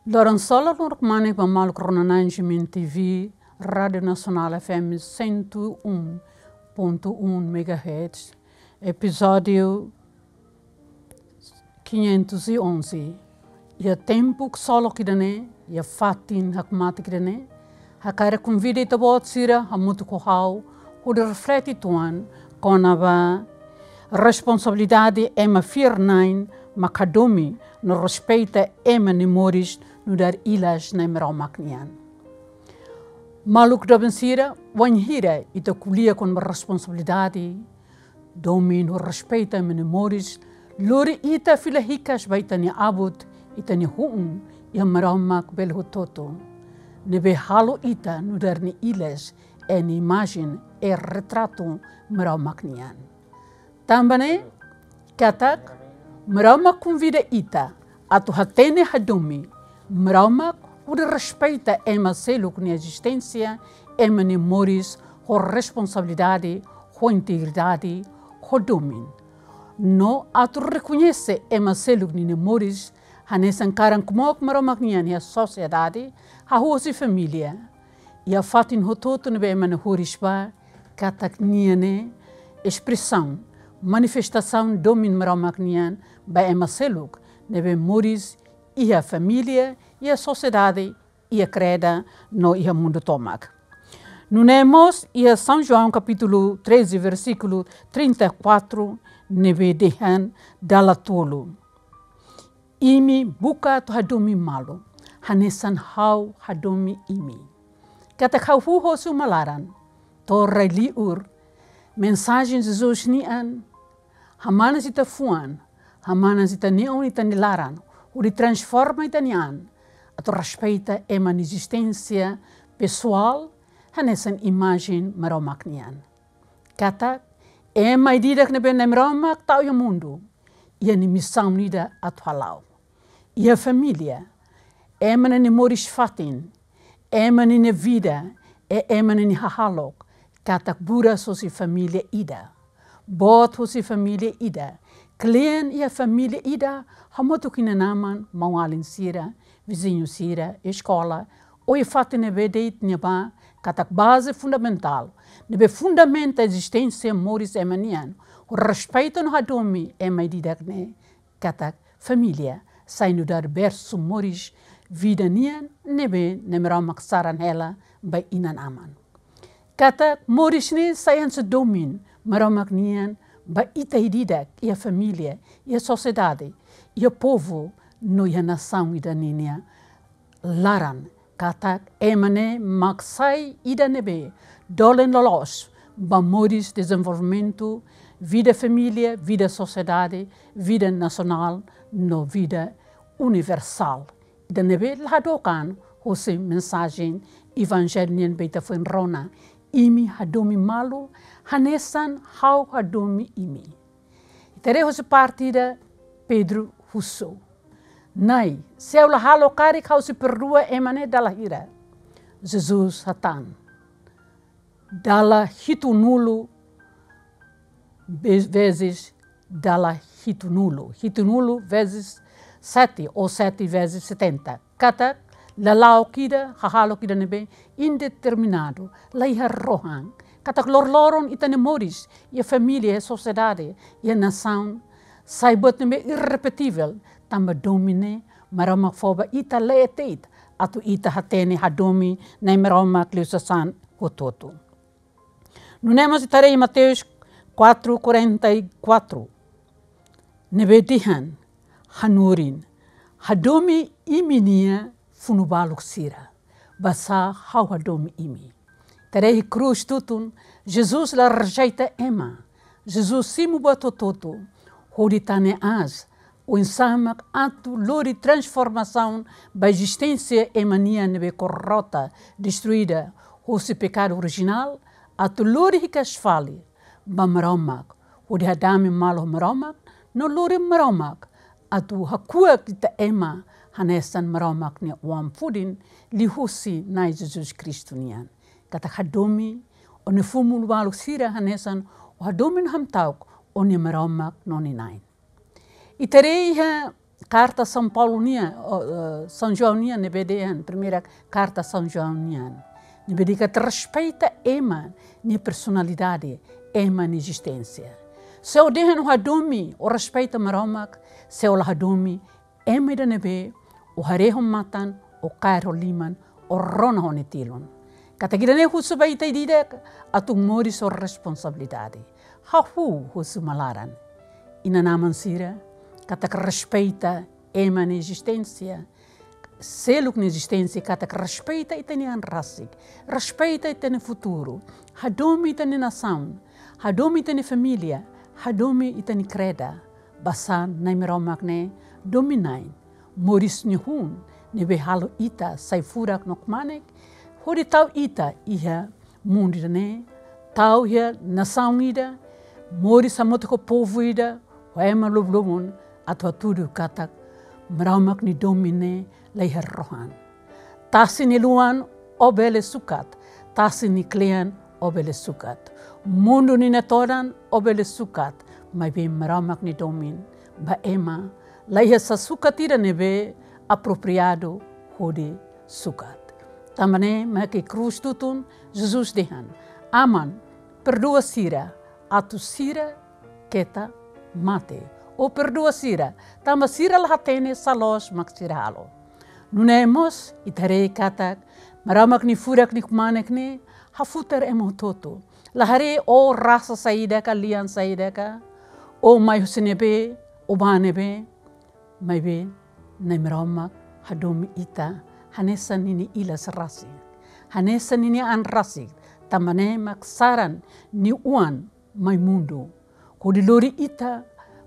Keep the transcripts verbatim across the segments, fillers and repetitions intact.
Loron solo, loron kmanek ba maluk rona-na'in G M N T V, Rádiu Nasionál F M cento um ponto um megahertz, epizódiu quinhentos e onze. Iha tempu ksolok ida-ne'e, iha fatin hakmatek ida-ne'e, hakarak konvida ita-boot sira hamutuk ho ha'u hodi reflete uitoan kona-ba responsabilidade ema fiar-na'in mak hadomi no respeita ema nia moris nu'udar ilas Nai Maromak nian. Maluk doben sira, wainhira ita ko'alia kona-ba responsabilidade, domin no respeita ema nia moris, lori ita fila hikas ba ita-nia abut, ita-nia hu'un, iha Maromak bele hotu-hotu, ne'ebé halo ita nu'udar nia ilas, nia imajen, retratu Maromak nian. Tanba ne'e, katak Maromak konvida ita atu hatene hadomi Maromak hodi respeita ema seluk nia ezisténsia, ema nia moris, ho responsabilidade, ho integridade, ho domin. No atu rekoñese ema seluk ninia moris hanesan karan kmook Maromak nian iha sosiedade, hahú husi família, iha fatin hotu-hotu ne'ebé ema nia horis ba, katak nia ne'e espresaun, manifestasaun domin Maromak nian ba ema seluk ne'ebé moris iha família, iha sosiedade, iha kreda no iha mundu tomak. Nune'e mós iha São João kapítulu treze, versíkulu trinta e quatro, ne'ebé dehan dala tolu: Imi buka atu hadomi malu, hanesan ha'u hadomi imi. Katak hahú husi uma laran to'o rai-li'ur, mensajen Jesus nian hamanas ita-nia fuan, hamanas ita-nia oin, ita-nia laran, hodi transforma ita-nia an atu respeita ema nia ezisténsia pesoál hanesan imajen Maromak nian. Katak ema ida-idak ne'ebé Nai Maromak tau iha mundu, iha nia misaun ida atu hala'o. Iha família, ema ninia moris-fatin, ema ninia vida, i ema ninia hahalok, katak buras husi família ida, boot husi família ida, kle'an iha família ida, hamutuk ho inan-aman, maun-alin sira, viziñu sira, eskola, ou iha fatin ne'ebé de'it ne'ebá, katak baze fundamentál ne'ebé fundamenta ezisténsia moris ema nian, ho respeitu no hadomi ema ida-idak ne'e, katak família sai nu'udar bersu moris vida nian, ne'ebé Nai Maromak saran hela ba inan-aman. Katak moris ne'e sai hanesan domin Maromak nian ba ita ida-idak iha família, iha sosiedade, iha povu no iha nasaun ida ninia laran, katak ema ne'e mak sai ida ne'ebé dolen loloos ba moris, dezenvolvimentu, vida família, vida sosiedade, vida nasionál no vida universál. Ida ne'ebé la hadook an husi mensajen evanjellu nian ne'ebé ita foin rona: Imi hadomi malu, hanesan ha'u hadomi imi. Ita haree husi parte ida Pedro husu: Nai, se ha'u la halo karik, ha'u sei perdua ema ne'e dala hira? Jesus hatán: Dala hitunulu ve-, vezes, dala hitunulu. Hitunulu vezes sete ou sete vezes setenta. Katak lala'ok ida, hahalok ida ne'ebé indeterminadu, la iha rohan. Katak loroloron ita-nia moris, iha família, iha sosiedade, iha nasaun, sai buat ne'ebé irrepetivel, tanba domin ne'e Maromak fó ba ita leten atu ita hatene hadomi Nai Maromak liu sasán hotu-hotu. Nune'e mós ita haree Mateus quatro quarenta e quatro, ne'ebé dehan: Hanorin, hadomi imi-nia funu-baluk sira, basá ha'u hadomi imi. Ita haree iha krús tutun, Jesus la rejeita ema. Jesus simu buat hotu-hotu, hodi tane aas, oinsá mak atu lori transformasaun ba ezisténsia ema nian ne'ebé korrota, destruida husi pekadu orijinál, atu lori hikas fali ba Maromak, hodi hadomi malu ho Maromak, no lori Maromak atu hakuak ita ema hanesan Maromak nia oan-fudin, liuhusi Nai Jesus Kristu nian. Katak hadomi ó-nia funu-baluk sira hanesan ó hadomi no hamta'uk ó-nia Maromak no nia Na'i. Ita haree iha Karta São Paulo nian, o, eh, São João nian ne'ebé dehan, primeira karta São João nian. Ne'ebé dehan katak respeita ema nia personalidade, ema nia ezisténsia. Se ó dehan ó hadomi, ó respeita Maromak, se ó la hadomi, ema ida ne'ebé ó haree ho matan, ó kaer ho liman, ó rona ho nia tilun. Katak ida-ne'e husu ba ita ida-idak atu moris ho responsabilidade. Hahú husi uma laran. Inan-aman sira, katak respeita ema nia ezisténsia, seluk nia ezisténsia, katak respeita ita-nia an rasik, respeita ita-nia futuru, hadomi ita-nia nasaun, hadomi ita-nia família, hadomi ita-nia kreda. Basá Na'i Maromak ne'e domin-na'in, moris nia hun, ne'ebé halo ita sai furak no kmanek, hodi tau ita iha mundu ida-ne'e, tau iha nasaun ida, moris hamutuk ho povu ida, ho ema lubun-lubun, atu hatudu katak Maromak nia domin ne'e la iha rohan. Tasi nia luan ó bele sukat, tasi nia kle'an ó bele sukat. Mundu nia todan ó bele sukat, maibé Maromak nia domin ba ema la iha sasukat ida ne'ebé apropriadu hodi sukat. Tanba ne'e mak iha krús tutun, Jesus dehan: Aman, perdua sira, atu sira keta mate. Ou perdua sira, tanba sira la hatene sá loos mak sira halo. Nune'e mós, ita haree katak Maromak nia furak no kmanek ne'e hafutar ema hotu-hotu. La haree ó rasa saida ka, lian saida ka, ó mai husi ne'ebé, ó bá ne'ebé, maibé Na'i Maromak hadomi ita hanesan ninia ilas rasik, hanesan ninia an rasik, tanba ne'e mak saran nia Oan mai mundu, hodi lori ita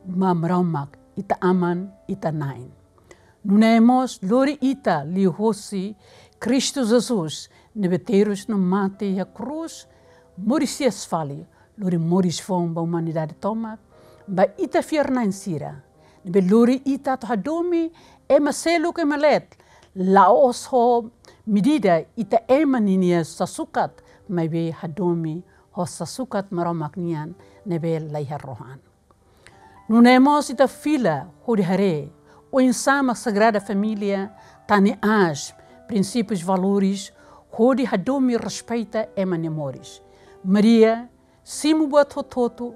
ba Maromak, ita Aman, ita Na'in. Nune'e mós lori ita liuhosi Kristu Jesus, ne'ebé terus no mate iha krús, moris hi'as fali, lori moris foun ba umanidade tomak, ba ita fiar-na'in sira. Ne'ebé lori ita atu hadomi ema seluk, ema leet, la'ós ho medida ita ema ninia sasukat, maibé hadomi ho sasukat Maromak nian ne'ebé la iha rohan. Nune'e mós ita fila hodi haree oinsá mak Sagrada Família tane aas prinsípius, valores, hodi hadomi, respeita ema nia moris. Maria simu buat hotu-hotu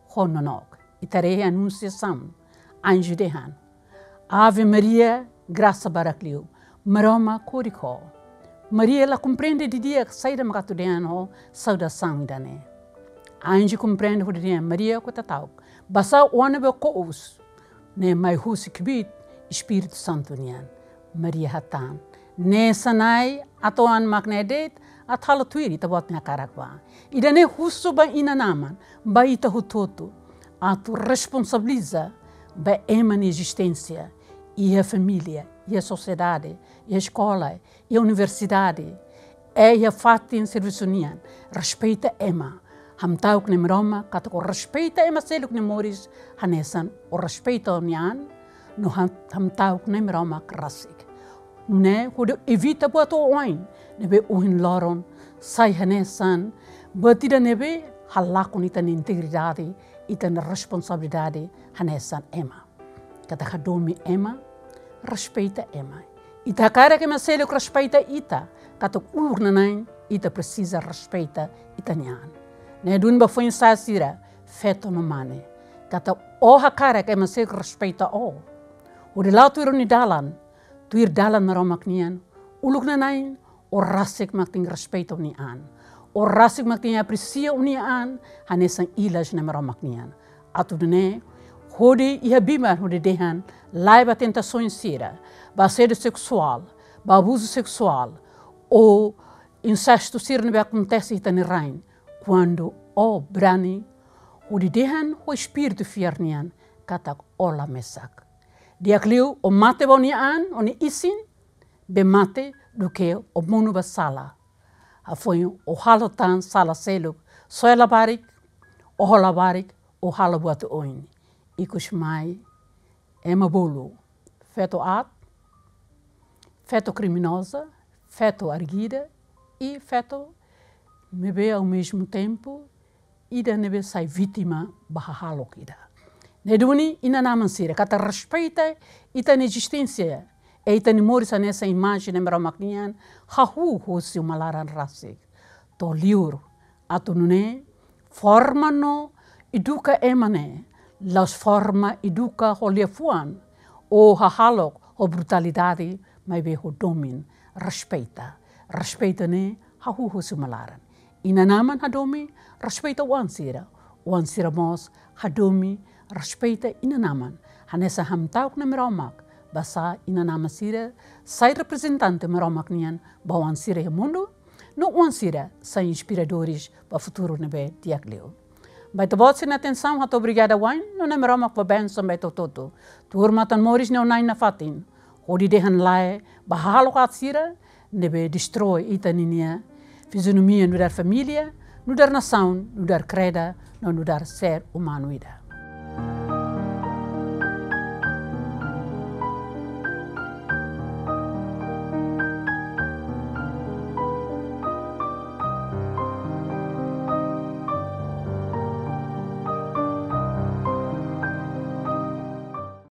ho nonook. Ita haree Anunciação, anju dehan: Ave Maria, grasa barak liu, Maromak korik ho ó. Maria la komprende didi'ak saida mak atu dehan ho saudasaun ida-ne'e. Anju komprende hodi dehan: Maria, ó keta ta'uk. Basá Oan ne'ebé ó ko'us ne'e mai husi kbiit Espíritu Santu nian. Maria hatán: Ne'e Na'i, atu Oan mak ne'e de'it, atu halo tuir Ita-Boot nia hakarak bá. Ida-ne'e husu ba inan-aman, ba ita hotu-hotu, atu responsabiliza ba ema nia ezisténsia, iha família, iha sosiedade, iha eskola, iha universidade, iha fatin servisu nian. Respeita ema. Hamta'uk Na'i Maromak katak ó respeita ema seluk nia moris hanesan ó respeita ó-nia an, no ham-, hamta'uk Na'i Maromak rasik. Nune'e hodi evita buat oioin ne'ebé ohin loron sai hanesan buat ida ne'ebé halakon ita-nia integridade, ita-nia responsabilidade hanesan ema. Katak hadomi ema, respeita ema. Ita hakarak ema seluk respeita ita, katak uluk nanain ita presiza respeita ita-nia an. Ne'e duni ba foin-sa'e sira, feto no mane. Katak ó hakarak ema seluk respeita ó, hodi la'o tuir ó-nia dalan, tuir dalan Maromak nian, uluk nanain ó rasik mak tenke respeita ó-nia an. Ó rasik mak tenke apresia ó-nia an hanesan ilas Na'i Maromak nian. Atu nune'e, hodi iha biban hodi dehan lae ba tentasaun sira, ba asédiu seksuál, ba abuzu seksuál, ou insestu sira ne'ebé akontese iha ita-nia rain, kuandu ó brani hodi dehan ho espíritu fiar nian katak ó la mesak. Di'ak liu ó mate ba ó-nia an, ó-nia isin, bee mate, duké ó monu ba sala. Hafoin ó halo tan sala seluk, soe labarik, oho labarik, ó halo buat oioin. Ikusmai, ema bolu, feto aat, feto kriminoza, feto arguida, i feto ne'ebé ao mesmo tempo ida ne'ebé sai vítima ba hahalok ida. Ne'e duni inan-aman sira, katak respeita ita-nia ezisténsia, e ita-nia moris hanesan imajen Nai Maromak nian, hahú husi uma laran rasik. To'o liur, atu nune'e forma no eduka ema ne'e, la'ós forma eduka ho liafuan, ou hahalok ho brutalidade, maibé ho domin, respeita. Respeita ne'e hahú husi uma laran. Inan-aman hadomi, respeita oan sira. Oan sira mós hadomi, respeita inan-aman. Hanesan hamta'uk Nai Maromak, basá inan-aman sira sai reprezentante Maromak nian ba oan sira iha mundu, no oan sira sai inspiradores ba futuru ne'ebé di'ak liu. Ba ita-boot sira-nia atensaun, hato'o obrigada wa'in, no Nai Maromak fó bensaun ba ita hotu-hotu. Tuur matan-moris ne'e ho Nai nafatin, hodi dehan lae ba hahalok aat sira ne'ebé destrói ita ninia fizionomia nu'udar família, nu'udar nasaun, nu'udar kreda, no nu'udar ser umanu ida.